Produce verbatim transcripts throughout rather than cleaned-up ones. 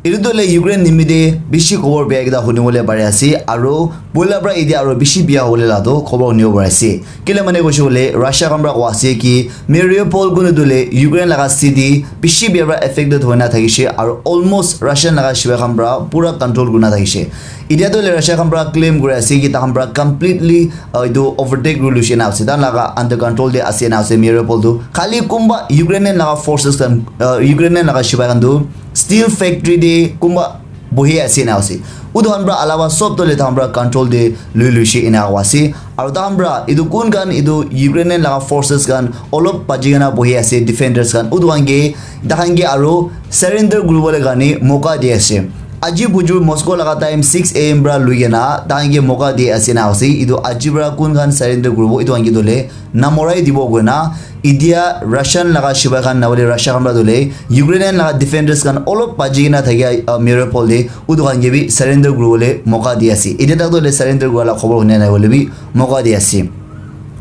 Etu tu le Ukraine nimite bishi khobor bia ekta huni bole pari ase, aro boila pra etia aro bishi bia hobole la tu khobor huni bo pari ase. Kile mane koishe kole Russia khan pra koa ase ki Mariupol kunu tu le Ukraine laga city bishi bia pra affected hoina thakishe, aro almost Russian laga shibai khan pra pura control kurina thakishe. Etia tu le Russia khan pra claim kuri ase ki takhan pra completely, uh, etu overtake kuri luishe na ase, takhan laga under control te ase na ase Mariupol tu. Khali kumba Ukrainian laga forces khan, uh, Ukrainian laga shibai khan tu steel factory te kumba bohi ase na ase. Utu khan pra alawa sob tu le takhan pra control te lui luishe ena koa ase. Aro takhan pra etu kun khan etu Ukrainian laga forces khan olop baji kena bohi ase, defenders khan. Utu khan ke, takhan ke aro surrender kuribole karne moka di ase. Aji bujur Moscow laga time six a m pra lui kena takhan ke moka di ase na ase. Etu aji pra kun khan surrender kuribo, etu khan ke tu le namorai dibo koina. Etia Russian laga shibai khan na hoile Russia khan pra tu le Ukrainian laga defenders khan olop baji kena thakia, uh, Mariupol te utu khan ke bi surrender kuribole moka di ase. Etia tak tu le surrender kura la khobor huni nai hoile bi moka di ase.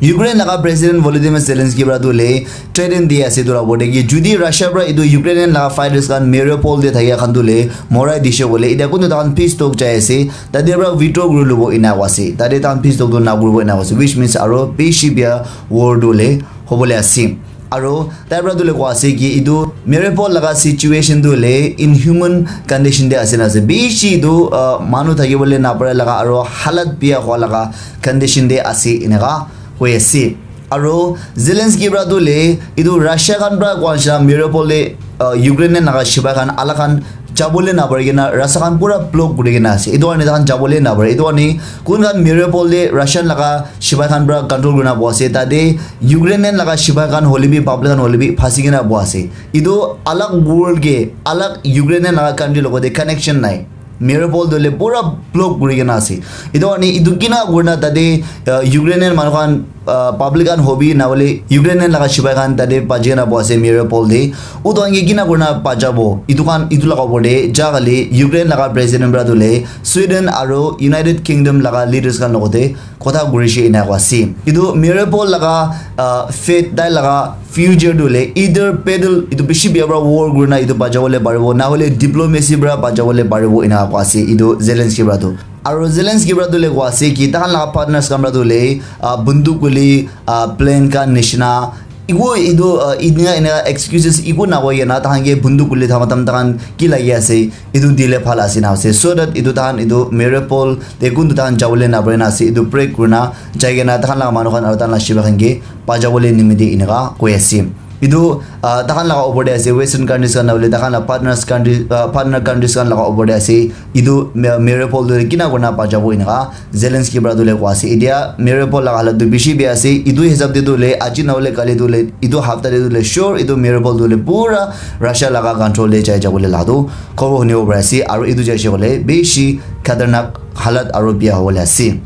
Ukraine laga President Volodymyr Zelensky pra tu le threaten di ase tu la bote ki judi Russia pra etu Ukrainian laga fighters khan Mariupol te thakia khan tu le morai dishe kole etia kunu takhan peace talk jai ase, tate pra withdraw kuri lubo ena koa ase. Tate takhan peace talk tu na kuribo ena koa ase, which means aro bishi bia war tu le hobole ase. Aro tai pra tu le koa ase ki etu Mariupol laga situation tu le inhuman condition te ase na ase. Bishi etu, uh, manu thakibole napare laga aro halat bia hua laga condition te ase eneka hoi ase. Aro Zelensky pra tu le etu Russia khan pra koa nishina Mariupol te, uh, Ukrainian laga shibai khan alak khan jabole napare kena rasta khan pura block kuri kena ase. Etu karne takhan jabole napare. Etu karne kun khan Mariupol te Russian laga shibai khan pra control kurina boa ase. Tate Ukrainian laga shibai khan hoile bi public khan hoile bi phasi kena boa ase. Etu alag world ke alag Ukrainian laga country logote connection nai. Mariupol tu le pura block kuri kena ase. Etu karne etu kina kurina tate, uh, Ukrainian manu khan, uh, public khan hobi na hoile Ukrainian laga shibai khan tate baji kena boa ase Mariupol te. Utu khan ke kina kurina bajabo. Etu khan etu laga opor te ja kali Ukraine laga president pra tu le Sweden aro United Kingdom laga leaders khan logote kotha kurishe ena koa ase. Etu Mariupol laga, uh, fate tai laga future tu le either battle etu bishi bia pra war kurina etu bajabole paribo, na hoile diplomacy pra bajabole paribo ena koa ase etu Zelensky pra tu. Aro Zelensky pra tu le koa ase ki takhan laga partners khan pra tu le, ah, bunduk guli, ah, plane khan nishina eku etu, ah, eneka eneka excuses eku na koi kena takhan ke bunduk guli thama tam takhan ki lagi ase etu dile bhal ase na ase, so that etu takhan etu Mariupol te kun tu takhan jabole na pare na ase, etu break kurina jai kena takhan laga manu khan aro takhan laga shibai khan ke bajabole nimite eneka koi ase. Etu, ah, takhan laga opor te ase, Western countries khan na hoile takhan laga partners country, ah, partner countries khan laga opor te ase. Etu Ma-, Mariupol tu kina kurina bajabo eneka Zelensky pra tu le koa ase. Etia Mariupol laga halat tu bishi bia ase. Etu hisab te tu le aji na hoile kali tu le etu hafta te tu le sure etu Mariupol tu le pura Russia laga control te jai jabole la tu khobor huni bo pari ase. Aro etu jaishe kole bishi khatarnak halat aro bia hobole ase.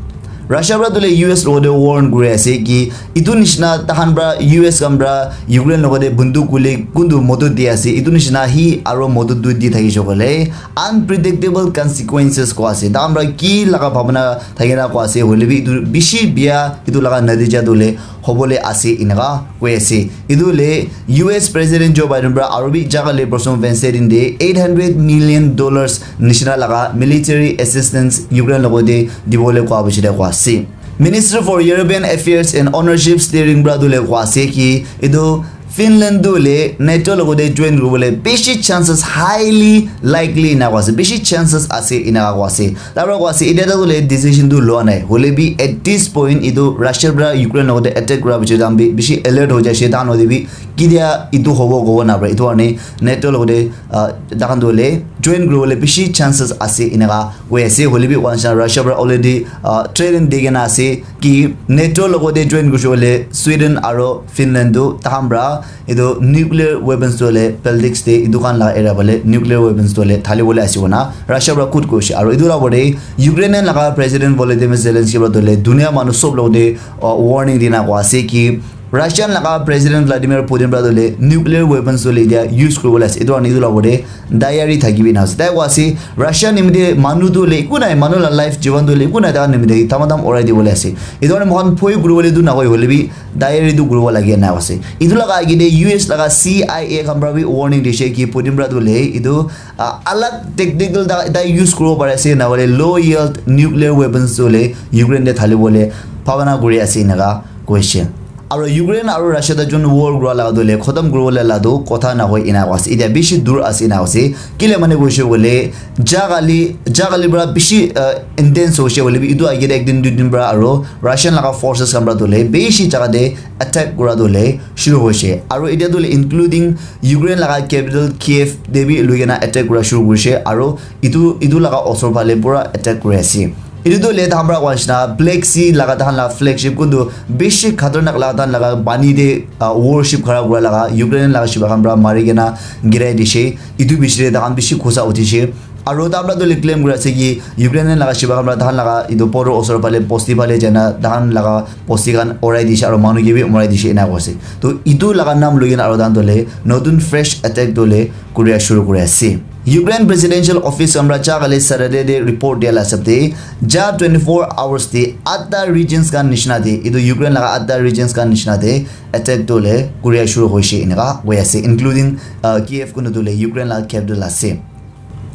Russia pra tu le U S logote warn kuri ase ki etu nishina takhan pra U S khan pra Ukraine logote bunduk guli kuntu modot di ase, etu nishina hi aro modot tu di thakishe kole unpredictable consequences koa ase. Takhan pra ki laga bhabana thakina koa ase, hoile bi etu bishi bia etu laga natija tu le hobole ase eneka koi ase. Etu le U S President Joe Biden pra aro bi jaga le person Wednesday din te eight hundred million dollars nishina laga military assistance Ukraine logote dibole koa bishi de koa ase. Minister for European Affairs and Ownership Steering pra tu le koa ase ki etu Finland tu le NATO logote join kuribole bishi chances highly likely ena koa ase, bishi chances ase ena koa ase. Tar pra koa ase etia tu le decision tu loa nai, hoile bi at this point etu Russia pra Ukraine logote attack kura bishi dam bi bishi alert hoi jaishe, takhan hoile bi ketia etu hobo kobo na pare. Etu karne NATO logote, ah, takhan tu le join kuribole bishi chances ase eneka koi ase. Hoile bi koa nishina Russia pra already, ah, threaten di kena ase ki NATO logote join kurishe kole Sweden aro Finland tu takhan pra etu nuclear weapons tu le Baltics te etu khan laga area phale nuclear weapons tu le thali bole ase koina Russia pra khud koishe. Aro etu la opor te Ukrainian laga President Volodymyr Zelensky pra tu le dunia manu sob logote, ah, warning dina koa ase ki Russian laga President Vladimir Putin para tu le nuclear weapons tu le dia use kuri bole ase. Etu karne etu la opor te diary thaki bi na ase. Tai koa ase, Russia nimite manu tu le eku nai, manu la life jivan tu le eku nai, tai nimite tamadam orai di bole ase. Etu karne mohan phoi kuri bole tu na koi hole bi diary tu kuri bo lage na ase. Etu laga age te U S laga C I A khan para bi warning dishe ki Putin para tu le etu, ah, alag technical ta, ta use kuri bo pare ase, na hole low yield nuclear weapons tu le Ukraine te thali bole bhabana kuri ase, eneka koise. Aro Ukraine aro Russia ta jun war kura laga tu le khotom kuri bole la tu kotha na hoi ena ase. Etia bishi dur ase ena ase. Kile mane koise bole jagali, jagali para bishi, ah, intense hoise bole bi etu age te ek din dui din para aro Russian laga forces khan para tu le bishi jaga te attack kura tu le shuru hoise. Aro etia tu le including Ukraine laga capital Kiev te bi lui kena attack kura shuru kurise. Aro etu, etu laga osor phale pura attack kuri ase. Etu tu le tahan para koa nishina Black Sea laga tahan la flagship kuntu bishi khatarnak laga tahan laga pani te, ah, warship khara kura laga Ukraine laga shiba khan para mari kena girai dishe. Etu bishi te tahan bishi khusa uthi she. Aro tahan para tu le claim kuri ase ki Ukraine laga shiba khan para tahan laga etu border osor phale bosti phale jana tahan laga bosti khan orai dishe aro manu ke bi marai dishe ena koise. To etu laga nam lui kena aro tahan tu le notun fresh attack tu le kuria shuru kuri ase. Ukraine Presidential Office khan para ja kali Saturday te report dia la hisab te, ja twenty-four hours te atta regions khan nishina te, etu Ukraine laga atta regions khan nishina te attack tu le kuria shuru hoise eneka hoi ase, including, uh, Kiev kunu tu le Ukraine laga capital ase.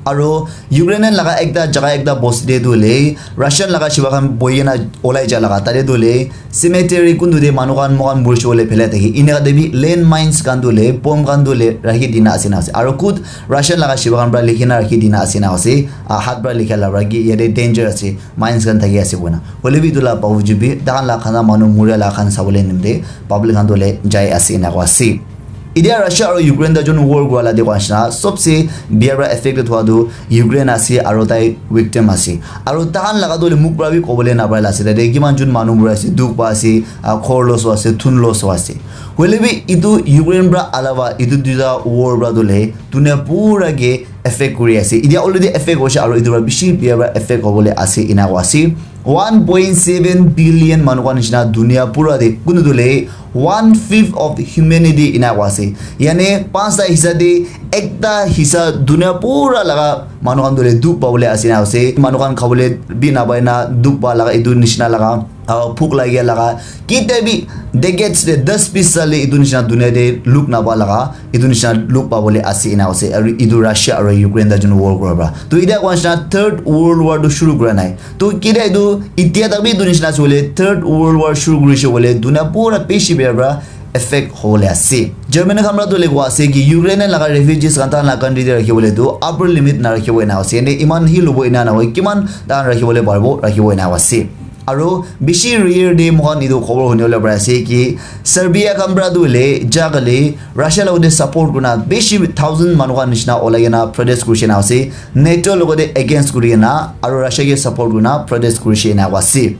Aro Ukraine laga ekta jaga ekta bosti te tu le Russian laga shiba khan bohi kena olai ja laga tate tu le cemetery kuntu te manu khan moikhan murishibole phela thaki. Eneka te bi land mines khan tu le, bomb khan tu le rakhi dina ase na ase. Aro khud Russian laga shiba khan para likhi na rakhi dina ase na ase. Ah, hat para likha la para ki yate danger ase, mines khan thaki ase koina. Hoile bi etu la bawjud bi, tahan la khana manu muria la khan sabole nimite public khan tu le jai ase na koa ase. Etia Russia aro Ukraine ta jun war kura la dikha nishina, sobse bia para affected hua tu Ukraine ase aro tai victim ase. Aro tahan laga tu le muk para bi kobole na para la ase. Tate kiman jun manu mura ase, dukh pa ase, ah, khor loss hua ase, thun loss hua ase. Hoile bi etu Ukraine para alawa etu duita war para tu le dunia pura ke affect kuri ase. Etia already affect hoise aro etu para bishi bia para affect hobole ase ena koa ase. One point seven billion manu khan nishina dunia pura te kunu tu le one fifth of humanity ena koa ase. Yane panchta hissa te ekta hissa dunia pura laga manu khan tu le dukh pabole ase na ase. Manu khan khabole bi napai na dukh pa laga etu nishina laga, ah, bhuk lagia laga kitia bi decades te das bis saal le etu nishina dunia te look napa laga etu nishina look pabole ase ena ase. Aru etu Russia aru Ukraine ta jun war kura pra. To etia koa nishina third world war tu shuru kura nai. To kitia etu etia tak bi etu nishina ase bole third world war shuru kurise bole dunia pura bishi bia pra effect hobole ase. Germany khan pra tu le koa ase ki Ukraine laga refugees khan tahan la country te rakhi bole tu upper limit na rakhi bo ena ase. Ene iman hi lobo ena na hoi, kiman tahan rakhi bole paribo rakhi bo ena ase. Aro bishi rare te moikhan etu khobor hunibole pari ase ki Serbia khan pra tu hoile ja kali Russia logote support kurina bishi thousand manu khan nishina olai kena protest kurishe na ase. NATO logote against kuri kena aro Russia ke support kurina protest kurishe na ase.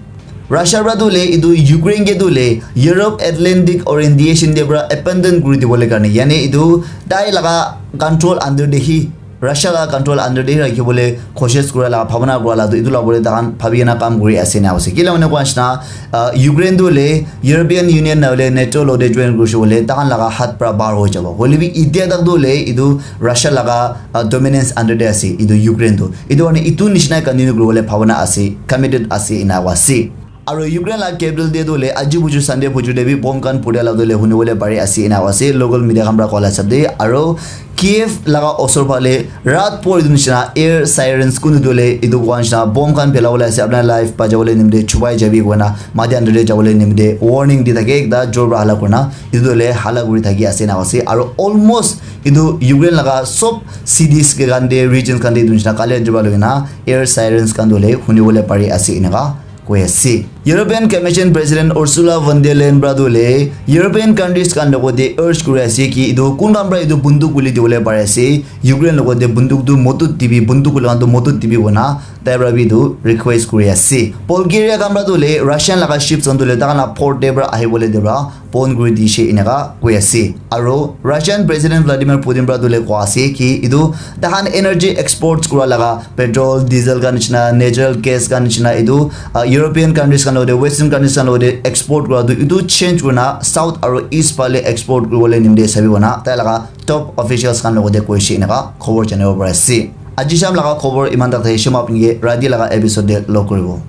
Russia pra tu hoile etu Ukraine ke tu hoile Europe Atlantic Orientation te pra abandon kuri dibole karne, yani etu tai laga control under te hi Russia la control under te rakhi bole koshish kura la bhabana kura la tu etu la bole tahan bhabi kena kam kuri ase na ase. Kila mane koa nishina, ah, Ukraine tu hoile European Union na hoile NATO logote join kurishe bole tahan laga hat pra bahar hoi jabo. Hoile bi etia tak tu hoile etu Russia laga, ah, dominance under te ase etu Ukraine tu. Etu karne etu nishina continue kuri bole bhabana ase, committed ase ena koa ase. Aro Ukraine la capital te tu hoile aji buju Sunday buju te bi bomb khan phuria la tu hoile huni bole pari ase ena koa ase local media khan pra koa la hisab te. Aro Kiev laga osor phale rat por etu nishina air sirens kunu tu hoile etu koa nishina bomb khan phela bole ase, apna life bacha bole nimite chubai jabi koina mati under te jabole nimite warning di thake ekta jor pra hala kurina etu tu hoile hala kuri thaki ase ena koa ase. Aro almost etu Ukraine laga sob cities ke khan te regions khan te etu nishina kali jor pra loi kena air sirens khan tu hoile huni bole pari ase eneka koi ase. European Commission President Ursula von der Leyen pra tu hoile European countries khan logote urge kuri ase ki etu kun khan pra etu bunduk guli dibole pari ase, Ukraine logote bunduk tu motut dibi, bunduk guli khan tu motut dibi koina Tai para bi etu request kuri ase. Bulgaria khan para tu le Russian laga ships khan tu le taikhan la port te para ahibole tu para bon kuri dishe eneka koi ase. Aro Russian President Vladimir Putin para tu le koa ase ki etu taikhan energy exports kura laga petrol, diesel khan nishina, natural gas khan nishina etu, ah, European countries khan logote, Western countries khan logote export kura tu etu change kurina South aro East phale export kuribole nimite sabi kona tai laga top officials khan logote koishe eneka khobor janibo pari ase. Aji sham laga khobor iman tak thakishi, moi apni ke rati laga episode te log kuribo.